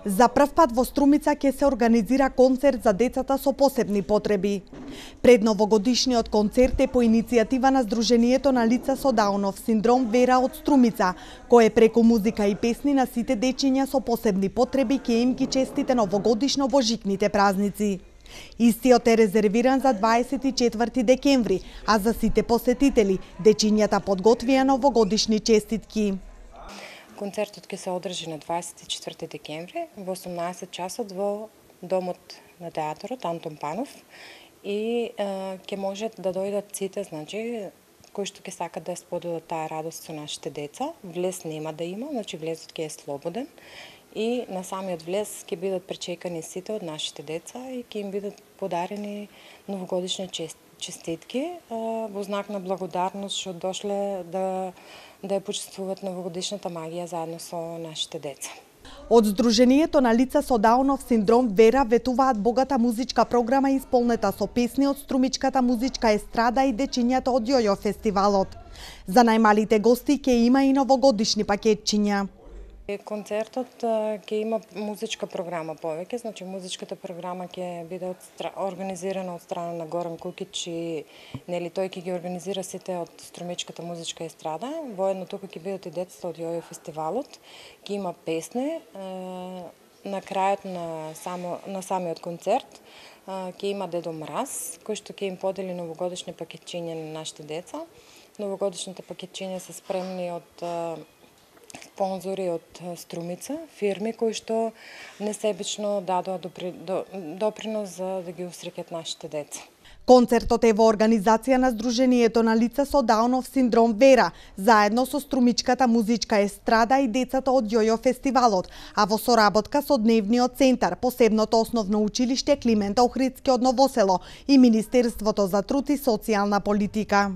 За прв пат во Струмица ќе се организира концерт за децата со посебни потреби. Предновогодишниот концерт е по иницијатива на Сдруженијето на лица со Даунов синдром Вера од Струмица, кое преку музика и песни на сите дечиња со посебни потреби ќе им ги честите новогодишно божикните празници. Истиот е резервиран за 24 декември, а за сите посетители дечињата подготвија новогодишни честитки. Концертот ќе се одржи на 24 декември во 18 часот во домот на театарот Антон Панов и ќе можат да дојдат сите, значи, кои што ќе сакат да споделат таа радост со нашите деца. Влез нема да има, значи влезот ќе е слободен и на самиот влез ќе бидат пречекани сите од нашите деца и ќе им бидат подарени новогодишни честитки во знак на благодарност што дошле да ја почествуваат новогодишната магија заедно со нашите деца. Од Сдруженијето на лица со Даунов синдром Вера ветуваат богата музичка програма исполнета со песни од струмичката музичка естрада и дечињата од Јојо фестивалот. За најмалите гости ќе има и новогодишни пакетчиња. Концертот ќе има музичка програма повеќе, значи музичката програма ќе биде организирана од страна на Горан Кукич и нели тој ќе ги организира сите од струмичката музичка естрада. Воедно тука ќе бидат и децата од Јојо фестивалот. Ќе има песни на крајот на самиот концерт. Ќе има Дедо Мраз, кој што ќе им подели новогодишни пакетчиња на нашите деца. Новогодишните пакетчиња се спремни од спонзори од Струмица, фирми кои што несебично дадоа допринос за да ги усреќат нашите деца. Концертот е во организација на Сдруженијето на лица со Даунов синдром Вера, заедно со струмичката музичка естрада и децата од Јојо фестивалот, а во соработка со Дневниот центар, посебното основно училиште Климент Охридски од Новосело и Министерството за труд и социјална политика.